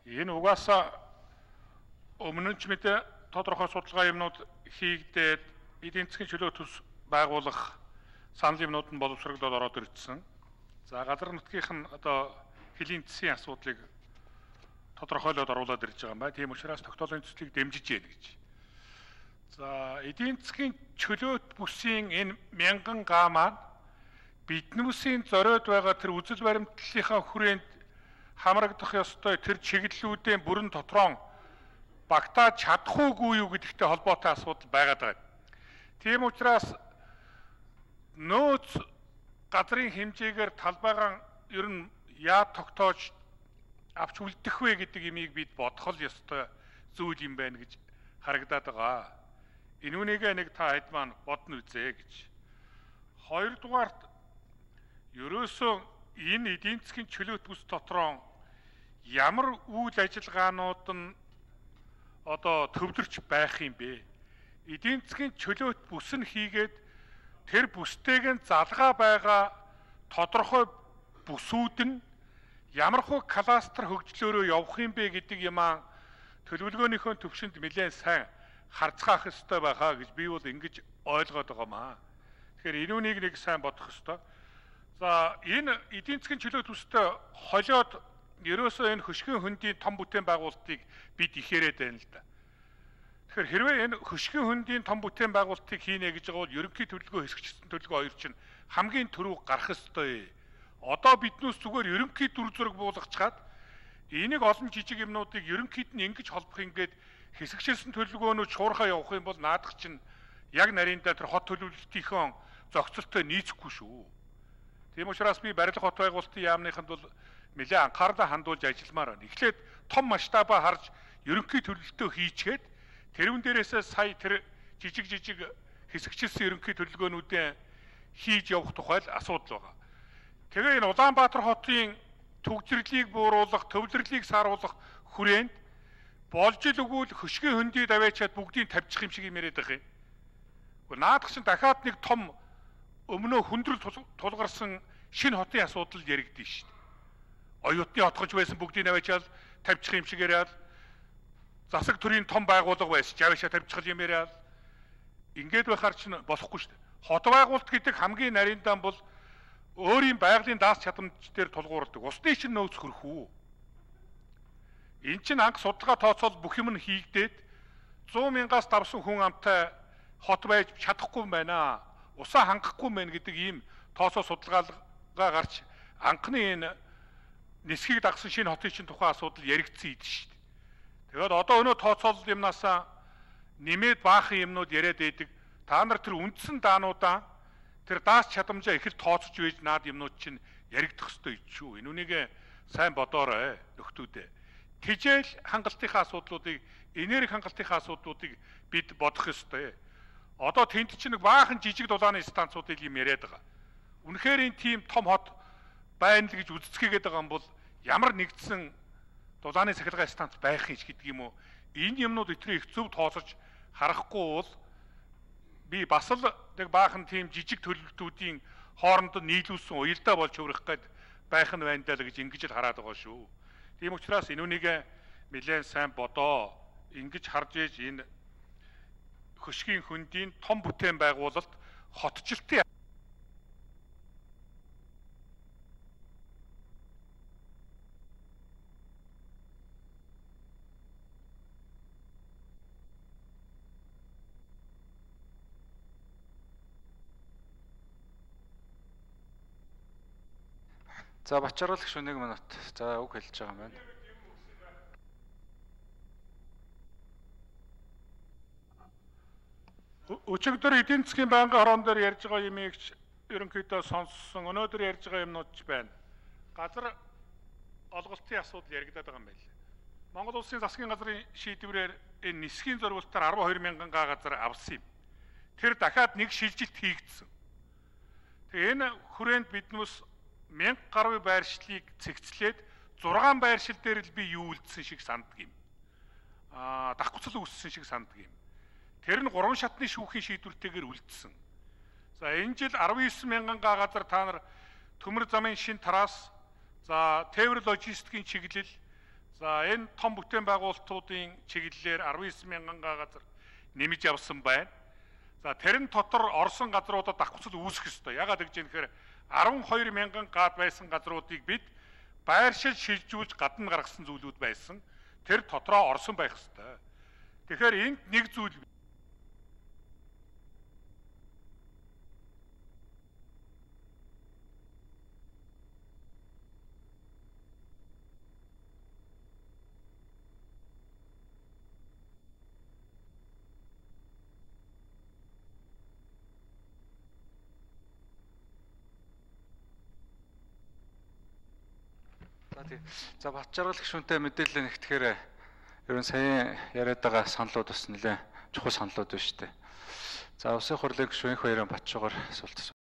Энэ угаасаа өмнө нь ч мэдээ тодорхой судалгаа юмнууд хийгдээд эдийн засгийн чөлөө төс байгуулах санал юмнууд нь боловсрогдоод ороод ирсэн. За газар нутгийнх нь одоо хэлийн засгийн асуудлыг тодорхойлоод оруулаад ирж байгаа юм байна. Тийм учраас тогтоолын төслийг дэмжиж яана гэж. За эдийн засгийн чөлөөт бүсийн энэ мянган га маань биднүүсийн зориод байгаа тэр үзэл баримтлалынхаа хүрээнд хамрагдах ёстой тэр чиглэлүүдийн бүрэн дотроо багтааж чадахгүй юу гэдэгтэй холбоотой асуудал байгаад байгаа. Тийм учраас нөөц газрын хэмжээгээр талбайгаан ер нь яа тогтоож авч үлдэх вэ гэдэг имийг бид бодох л ёстой зүйл юм байна гэж харагдаад байгаа. Энүүнийг нэг та хэд маань бодно үзье гэж. Хоёрдугаарт ерөөсөө энэ эдийн засгийн чөлөөт бүс дотроо ямар үйл ажиллагаанууд нь одоо төвлөрч байх юм бэ? Эдийн засгийн чөлөөт бүс нь хийгээд тэр бүстэйг нь залгаа байгаа тодорхой бүсүүд нь ямар хөө кластер хөгжлөөрөө явах юм бэ гэдэг юмаа төлөвлөгөөнийхөө төвшөнд нэлээд сайн харцгаах ёстой байхаа гэж би бол ингэж ойлгоод байгаамаа. Тэгэхээр энүүнийг нэг сайн бодох ёстой. За энэ эдийн засгийн чөлөөт бүстэй холиод ерөөсөө энэ хөшгийн хөндийн том бүтээн байгуулалтыг бид ихэрэд байна л да. Тэгэхээр хэрвээ энэ хөшгийн хөндийн том бүтээн байгуулалтыг хийнэ гэж байгаа бол ерөнхий төлөвлөгөө хэсэгчсэн төлөвлөгөө хоёр чинь хамгийн түрүү гарах ёстой. Одоо биднээс зүгээр ерөнхий дүр зураг буулгачаад энийг олон жижиг юмнуудыг ерөнхийд нь ингэж холбох ингээд хэсэгчсэн төлөвлөгөөнүүд шуурхаа явах юм бол наадах чинь яг нарийнда тэр хот төлөвлөлтийнхөө зохицолтой нийцэхгүй шүү. Тийм учраас би барилга хот байгуулалтын яамныханд бол нэлээд анхаарлаа хандуулж ажилламаар байна. Эхлээд том масштабаа харж ерөнхий төлөвлөлтөө хийчгээд тэрүүн дээрээсээ сая тэр жижиг хэсэгчилсэн ерөнхий төлөвлөгөөнүүдээ хийж явах тухай л асуудал байгаа. Тэгээ энэ Улаанбаатар хотын төгжрлийг бууруулах, төвлөрлийг сааруулах хүрээнд болж л өгвөл хөшгийн хөндий даваачаад бүгдийг тавьчих юм шиг юм яриад байгаа юм. Гэхдээ наадах чинь дахиад нэг том өмнөө хүндрэл тулгарсан шинэ хотын асуудал яригдэн шүү дээ. Оюутны отгож байсан бүгдийг наваачаал тавьчих юм шиг яриад засаг төрийн том байгууллага байсан жавшаа тавьчих юм яриад ингээд байхаар чинь болохгүй шүү дээ. Хот байгуулалт гэдэг хамгийн нарийндан бол өөрийн байгалийн даас чадамж дээр тулгуурдаг. Усны чинь нөөц хөрөх үү? Энд чинь анх судалгаа тооцоол бүх юм нь хийгдээд 100 мянгаас давсан хүн амтай хот байж чадахгүй юм байна. Усаа хангахгүй юм байна гэдэг ийм тооцоо судалгаагаа гарч анхны энэ нисхийг дагсан шинэ хотын чинь тухайн асуудал яригдсан идэв шүү дээ. Тэгээд одоо өнөө тооцоолол юмнасаа нэмээд баахан юмнууд яриад байдаг. Та нар тэр үндсэн даануудаа тэр даас чадамжаа их л тооцож байж наад юмнууд чинь яригдах ёстой шүү. Энүүнийг сайн бодоорой нөхдүүдээ. Тэжээл хангалтынхаа асуудлуудыг, энерги хангалтынхаа асуудлуудыг бид бодох ёстой. Одоо тэнд чинь нэг баахан жижиг дулааны станцуудыг юм яриад байгаа. Үнэхээр энэ тийм том хот байна л гэж үздэсгээд байгаа юм бол ямар нэгдсэн дулааны сахилгаан станц байх юм шиг гэдэг юм уу? Энэ юмнууд өтрийг их зөв тооцож харахгүй бол би бас л нэг баахан тийм жижиг төлөвлөлтүүдийн хооронд нийлүүлсэн уялдаа болж хувирах гээд байх нь байна даа л гэж ингэж л хараад байгаа шүү. Тийм учраас энүүнийг нэлээд сайн бодоо. Ингэж харж ээж энэ хөшгийн хөндийн том бүтээн байгуулалт хотчлтын За Бачаргал гэх 1 минут. За үг хэлж байгаа юм байна. Өчигдөр эдийн засгийн байнгын хорон дээр ярьж байгаа юмыг ерөнхийдөө сонссон. Өнөөдөр ярьж байгаа юмнууд ч байна. Газар олголтын асуудал яригдаад байгаа юм байна. Монгол улсын засгийн газрын шийдвэрээр энэ нисхийн зориултаар 12 мянган га газар авсан юм. Тэр дахиад нэг шилжилт хийгдсэн. Тэгээ энэ хүрээнд биднээс 1000 гаруй байршлыг цэгцлээд 6 байршил дээр л би юу үлдсэн шиг санддаг юм. Давхцал үүссэн шиг санддаг юм. Тэр нь 3 шатны шүүхийн шийдвэртэйгээр үлдсэн. За энэ жил 19 мянган га газар та нар төмөр замын шин тараас, за тээвэр логистикийн чиглэл, За энэ том бүтээн байгуулалтуудын чиглэлээр 19,000 газар нэмж явсан байна. За тэрэн дотор орсон газруудад давхцал үүсэх ёстой. Ягаад гэж юм гэхээр 12,000 гад байсан газруудыг бид байршил шилжүүлж гадна гаргасан зүйлүүд байсан. Тэр дотроо орсон байх ёстой. Тэгэхээр энд нэг зүйл За бат жаргал гишүүнтэй мэдээлэл нэгтгэхээр ер нь сая яриад байгаа саналууд бас нэлээд чухал саналууд байна шүү дээ. За улсын хурлын гишүүн их баярын Батшуугаар асуулт